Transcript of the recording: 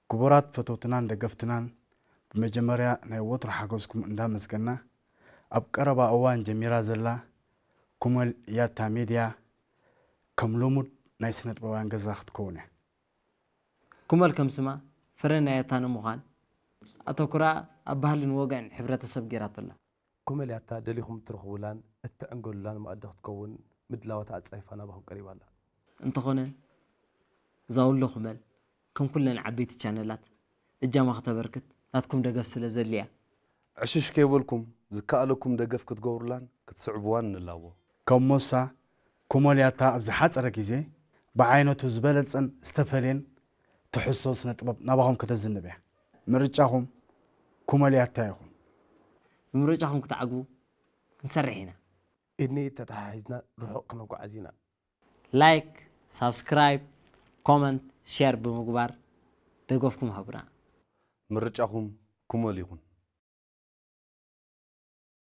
ክቡራት ፈተውትናን ደገፍትናን፣ ብመጀመርያ ናይ ወትሮ ሓገዝኩም እንዳመስገና፣ ኣብ ቀረባ እዋን ጀሚራ ዘላ ኩመል ያታ ሜድያ ከም ልሙድ ናይ ስነ ጥበባውያን ገዛ ክትከውን እያ። ኩመል ከም ስማ ፍረ ናይ ያታ ንምዃን ኣተኩራ ኣብ ባህልን ወግዕን ሕብረተሰብ ገይራቶላ። ኩመል ያታ ደሊኹም እትረኽቡላን እትዕንገሉላን መኣዲ ክትከውን ምድላዋት ኣጻይፋ ናባኹም ቀሪባ ኣላ። እንተኾነ እዛ ወሎ ኩመል ከም ኩለን ዓበይቲ ቻነላት እጃማ ክተበርክት ናትኩም ደገፍ ስለ ዘድልያ ዕሽሽ ከይበልኩም ዝከኣለኩም ደገፍ ክትገብሩላን ክትስዕብዋን ንላቦ። ከም ሞሳ ኩመል ያታ ኣብ ዝሓጸረ ግዜ ብዓይነቱ ዝበለጸን ዝተፈልየን ትሕዝቶ ስነ ጥበብ ናባኹም ከተዝንብ እያ። ምርጫኹም ኩመል ያታ ይኹን። ብምርጫኹም ክትዓግቡ ክንሰርሕ ኢና። ኢድኒ ተተሓሒዝና ርሑቕ ክነጓዓዝ ኢና። ላይክ፣ ሳብስክራይብ፣ ኮመንት፣ ሼር ብምግባር ደገፍኩም ሃቡና። ምርጫኹም ኩመል ይኹን።